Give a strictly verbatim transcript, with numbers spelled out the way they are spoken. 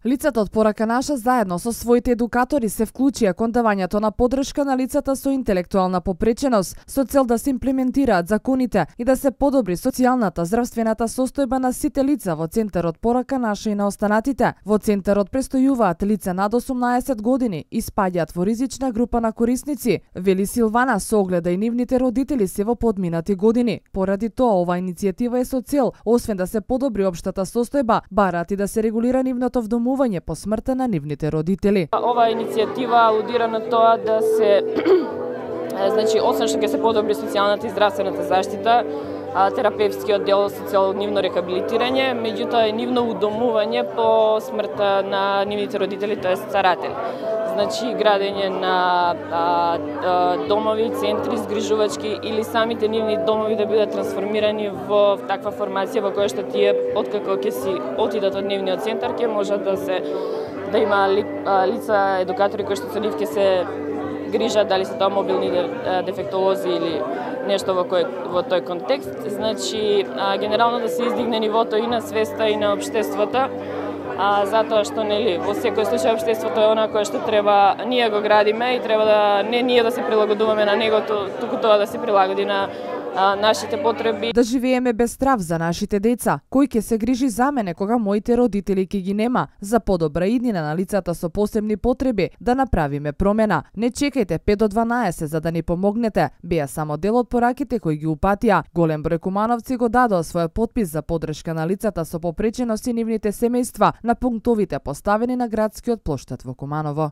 Лицата од Порака наша заедно со своите едукатори се вклучија кон давањето на поддршка на лицата со интелектуална попреченост, со цел да се имплементираат законите и да се подобри социјалната здравствената состојба на сите лица во Центарот Порака наша и на останатите. Во Центарот престојуваат лица над осумнаесет години и спаѓаат во ризична група на корисници, вели Силвана, со огледа и нивните родители се во подминати години. Поради тоа, ова иницијатива е со цел, освен да се подобри општата состојба, бараат и да се регулира нивното вдомување по смртта на нивните родители. Ова иницијатива алудира на тоа да се значи освен што ќе се подобри социјалната и здравствената заштита, терапевскиот дел со цел нивно рехабилитирање, меѓутоа и нивно удомување по смртта на нивните родители, тоест старатели. Значи градење на а, а, домови, центри згрижувачки или самите нивни домови да бидат трансформирани во таква формација во која што тие откако ќе си отидат од нивниот центар ќе можат да се да има ли, а, лица едукатори кои што со нив ќе се грижат, дали се тоа мобилни дефектолози или нешто во кој во тој контекст. Значи а, генерално да се издигне нивото и на свеста и на општеството. А, затоа што нели во секој случај општеството е она кое што треба ние го градиме и треба да не ние да се прилагодуваме на него, туку тоа да се прилагоди на а, нашите потреби. Да живееме без страв за нашите деца. Кој ќе се грижи за мене кога моите родители ќе ги нема? За подобра иднина на лицата со посебни потреби да направиме промена. Не чекајте пет до дванаесет за да ни помогнете. Беа само дел од пораките кои ги упатија. Голем број кумановци го дадоа својот потпис за поддршка на лицата со попреченост и нивните семејства на пунктовите поставени на градскиот плоштад во Куманово.